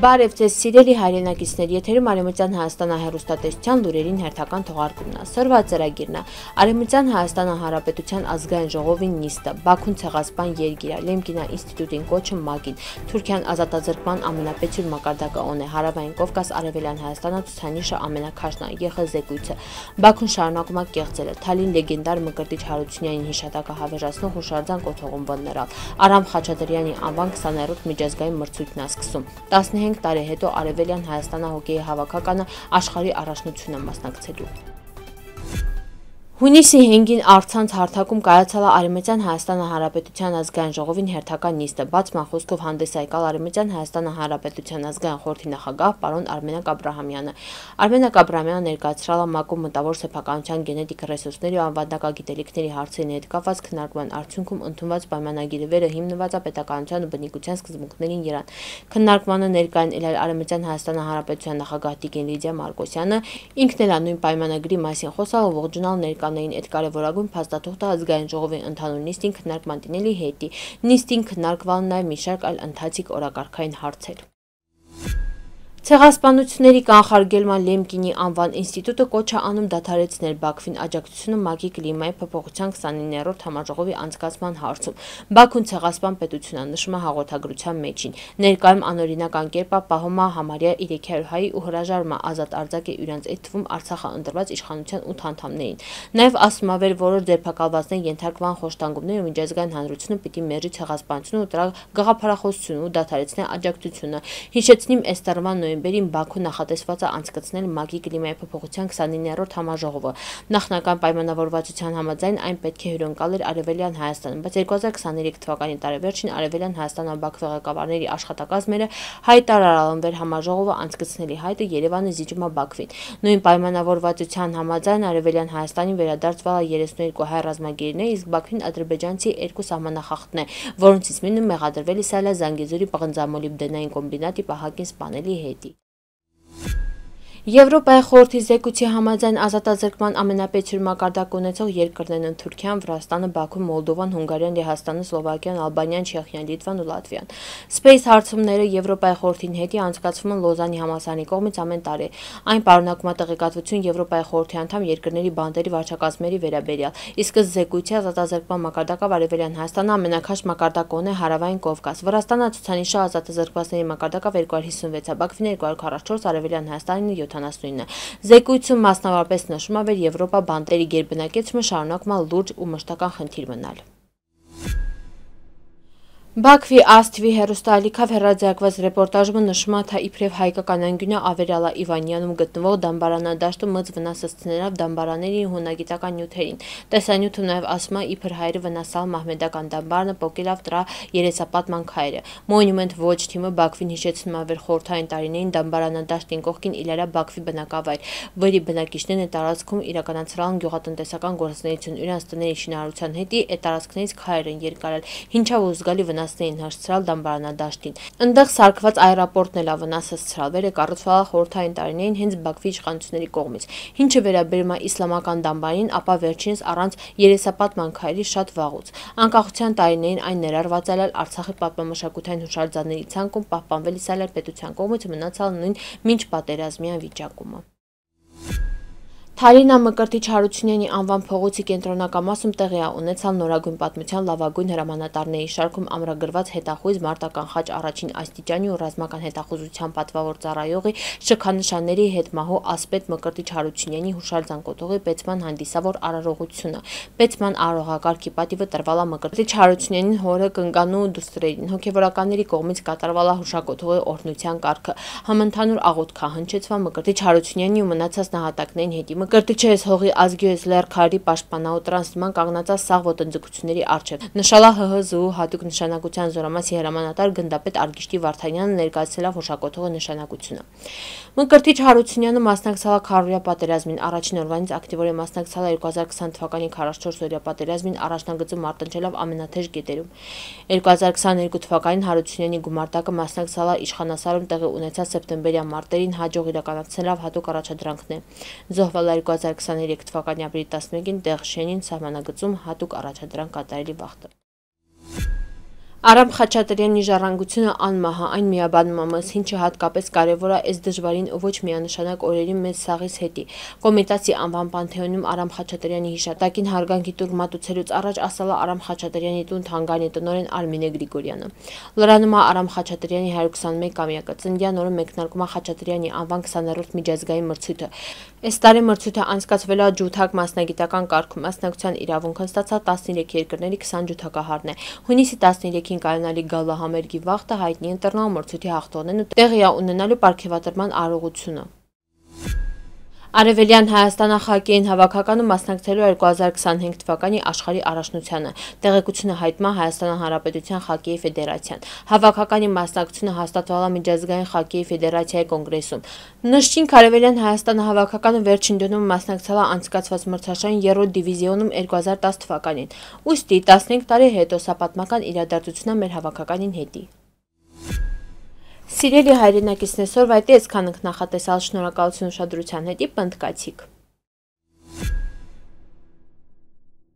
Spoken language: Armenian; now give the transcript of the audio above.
Բարև ձեզ սիրելի հայրենակիցներ, եթերում Արևմտյան Հայաստանը հեռուստատեսության լուրերին հերթական թողարկումն է։ Սրվա ծրագիրն է Արևմտյան Հայաստանը Հանրապետության ազգային ժողովի նիստը, Բաքուն ցեղասպան երգիրը, Լեմկինա ինստիտուտին կոչը ՄԱԿ-ին, Թուրքիան ազատազրկման ամենապետյուն մակարդակը է, Հարավային Կովկաս, Արևելյան Հայաստանը ցուցանիշը ամենաքաշն է, ԵԽ զեկույցը, Բաքուն շարունակում է կեղծել, Թալին լեգենդար Մկրտիչ Հարությունյանին հիշատակը հավերժացնող հուշարձան կոթողում բռներալ, Արամ Խաչատրյանի անվան 20-րդ միջազգային մրցույթն է սկսում, 15 տարի հետո Արևելյան Հայաստանը հոկեյի հավաքականը աշխարհի առաջնությունն է մասնակցելու։ Հունիսի 5-ին առցանց հարթակում կայացել է Արևմտյան Հայաստանը Հանրապետության ազգային ժողովին հերթական նիստը, բացման խոսքով հանդես եկալ Արևմտյան Հայաստանը Հանրապետության ազգային խորհրդի նախագահ պարոն Արմենակ Աբրահամյանը։ Արմենակ Աբրահամյանը ներկայացրել է ՄԱԿ-ում մտավոր սեփականության գենետիկ ռեսուրսների ու անվտանգագիտելիքների հարցերի հետ կապված քննարկման արդյունքում ընդունված պայմանագիրը վերը հիմնված է պետականության ու բնիկության սկզբունքներին երան։ Քննարկմանը ներկային ելել Արևմտյան Հայաստանը Հանրապետության նախագահ Տիկին Լիդիա Մարկոսյանը, ինքն էլ նույն պայմանագրի մասին խոսալ ու ողջունալ ներկանային այդ կարևորագույն փաստաթուղթը ազգային ժողովի ընդհանուր նիստին քննարկման դնելի հետի։ Նիստին քննարկվել նաև մի շարք այլ ընթացիկ օրակարգային հարցեր։ Ցեղասպանությունների կանխարգելման Լեմկինի անվան ինստիտուտը կոչ է անում դադարեցնել Բաքվին աջակցությունը ՄԱԿ-ի կլիմայի փոփոխության 29-րդ համաժողովի անցկացման հարցում։ Բաքուն ցեղասպան պետություն է, նշում է հաղորդագրության մեջին։ Ներկայում անօրինական կերպ պահում է համարյա 300 հայ ու հրաժարում է ազատ արձակ է իրենց այդ թվում Արցախը ընտրված իշխանության 8 անդամներին։ Նաև ասում է, որ որոշ ձերբակալվածներ ենթարկվան խոշտանգումներ ու միջազգային հանրությունը պիտի մերժի ցեղասպանությունը ու դրա գաղափարախոսությունը ու դադարեցնի աջակցությունը։ Հիշեցնիմ, այս տարվա նոյեմբերին Բաքուն նախատեսված է անցկացնել ՄԱԿ-ի կլիմայի փոփոխության 29-րդ համաժողովը։ Նախնական պայմանավորվածության համաձայն այն պետք է հյուրընկալեր Արևելյան Հայաստանում, բայց 2023 թվականի տարեվերջին Արևելյան Հայաստանը Բաքվի ղեկավարների աշխատակազմերը հայտարարել են, որ համաժողովը անցկացնելի հայտը Երևանը զիջում է Բաքվին։ Նույն պայմանավորվածության համաձայն Արևելյան Հայաստանին վերադարձվել է 32 հայ ռազմագերիներ, իսկ Բաքվին ադրբեջանցի 2 սահմանախախտներ, որոնցից մեկը մեղադրվել է Զանգեզուրի պղնձամոլիբդենային կոմբինատի պահակին սպանելի հետի։ Եվրոպայի խորհրդի զեկույցի համաձայն ազատազրկման ամենապետյուն մակարդակ ունեցող երկրներն են Թուրքիան, Վրաստանը, Բաքուն, Մոլդովան, Հունգարիան, Լեհաստանը, Սլովակիան, Ալբանիան, Չեխիան, Լիտվան ու Լատվիան։ Space հարցումները Եվրոպայի խորհրդին հետի անցկացվում են Լոզանի համալսարանի կողմից ամեն տարի։ Այն պարունակում է տեղեկատվություն Եվրոպայի խորհրդի անդամ երկրների բանտերի վարչակազմերի վերաբերյալ, իսկ ըստ զեկույցի ազատազրկման մակարդակով Արևելյան Հայաստանը ամենաքաշ մակարդակը ունի Հարավային Կովկաս։ Վրաստանը ցուցանիշը ազատազրկվածների մակարդակով 256 է, Բաքվին 244, Արևելյան Հայաստանը 79։ Զեկույցում մասնավորապես նշում է, որ Եվրոպա բանտերի գերբնակեցումը շարունակում է լուրջ ու մշտական խնդիր մնալ։ Բաքվի ASTV հեռուստաալիքով հեռարձակված ռեպորտաժը նշում է, թե իբրև հայկական անկյունը Ավերալա Իվանյանում գտնվող դամբարանադաշտում մծ վնասեցնելով դամբարանների հունագիտական նյութերին։ Տեսանյութը նաև ասում է, իբր հայերը վնասալ մահմեդական դամբարանը պոկելով դրա երեսապատման քայլը։ Monument Watch թիմը Բաքվին հիշեցնում է, որ խորհրդային տարիներին դամբարանադաշտին կողքին Իլարա Բաքվի բնակավայր, որի բնակիչներն տարածքում իրականացրել են գյուղատնտեսական գործունեություն, իրենց տների շինարարության հետի այդ տարածքներից քայլեր են երկարել, ինչով զգալի վնասներին հասցրալ դամբարանադաշտին։ Այնտեղ սարքված այերապորտն էլ վնասեցրել, վերը կառուցվել է խորհրդային տարիներին հենց Բաքվի իշխանությունների կողմից։ Ինչը վերաբերում է իսլամական դամբարին, ապա վերջինս առանց երեսապատման քայլի շատ վաղուց։ Անկախության տարիներին այն ներառված է Արցախի պատմամշակութային հուշարձանների ցանկում, պահպանվել է պետության կողմից, մնացալ նույն մինչ պատերազմյան վիճակումը։ Թալինա Մկրտիչ Հարությունյանի անվան փողոցի կենտրոնակամասում տեղի է ունեցել նորագույն պատմության լավագույն հրամանատարների շարքում ամրագրված հետախույզ մարտական խաչ առաջին աստիճանի ու ռազմական հետախուզության պատվավոր ծառայողի շքանշանների հետմահու ասպետ Մկրտիչ Հարությունյանի հուշարձան կոթողի պետման հանդիսավոր արարողությունը։ Պետման արարողակարգի պատիվը տրվել է Մկրտիչ Հարությունյանին հորը կնկանու դուստրերին։ Հոգևորականների կողմից կատարվել է հուշակոթողի օրհնության կարգը։ Համընդհանուր աղոթք է հնչեցվել Մկրտիչ Հարությունյանի ու մնացած նահատակներին հետի։ Մկրտիչը ես հողի ազգի ես լեռքարի պաշտպանау տրանսման կանգնածած սաղ ոտնձգությունների առջև։ Նշալա ՀՀԶՈ հատուկ նշանակության զորամասի հրամանատար գնդապետ Արգիշտի Վարդանյանը ներկայացրել է հուշակոթողի նշանակությունը։ Մկրտիչ Հարությունյանը մասնակցել է քարոզիա պատերազմին, առաջին օրվանից ակտիվորեն մասնակցել է 2020 թվականի 44-օրյա պատերազմին, առաջնագծում մարտնչելով ամենաթեժ կետերում։ 2022 թվականին Հարությունյանի գումարտակը մասնակցել է իշխանասարում տեղի ունեցած սեպտեմբերյան մարտերին, հաջող իրականացնելով հատուկ առաջադրանքներ։ Զոհվել 2023 թվականի ապրիլի 11-ին Տեղշենին սահմանագծում հատուկ առաջադրանք կատարելի վաղտը։ Արամ Խաչատրյանի ժառանգությունը անմահ է, այն միաբանում է մեզ, ինչը հատկապես կարևոր է այս դժվարին ու ոչ միանշանակ օրերի մեծ սաղից հետի։ Կոմիտասի անվան Պանթեոնում Արամ Խաչատրյանի հիշատակին հարգանքի տուր մատուցելուց առաջ ասել է Արամ Խաչատրյանի տուն թանգարանի տնօրեն Արմինե Գրիգորյանը։ Լրանում է Արամ Խաչատրյանի 121-ամյակը, ծննդյան օրը մեկնարկում է Խաչատրյանի անվան 20-րդ միջազգային մրցույթը։ Այս տարի մրցույթը անցկացվել է ջութակ մասնագիտական կարգում, մասնակցության իրավունքն ստացա 13 երկրների 20 ջութակահարն է։ Հունիսի 13-ին կայանալի գալա համերգի վաղտը հայտնի ընտրնալ մրցույթի հաղթողներն ու տեղի ունենալու պարգևատրման արարողությունը։ Արևելյան Հայաստանը խաղկային հավաքականում մասնակցելու 2025 թվականի աշխարհի առաջնությանը։ Տեղեկությունը հայտնում է Հայաստան Հանրապետության խաղկեի ֆեդերացիան։ Հավաքականի մասնակցությունը հաստատվել է Միջազգային խաղկեի ֆեդերացիայի կոնգրեսում։ Նշենք, Արևելյան Հայաստանը հավաքականը վերջին դնում մասնակցել է անցկացված մրցաշարին 3-րդ դիվիզիոնում 2010 թվականին։ Ուստի 15 տարի հետո սա պատմական իրադարձություն է մեր հավաքականին հետի։ Սիրելի հայրենակիցներ, այսօրվա այդ էսքան ենք նախատեսալ, շնորհակալություն ուշադրության հետի, պնդկացիք։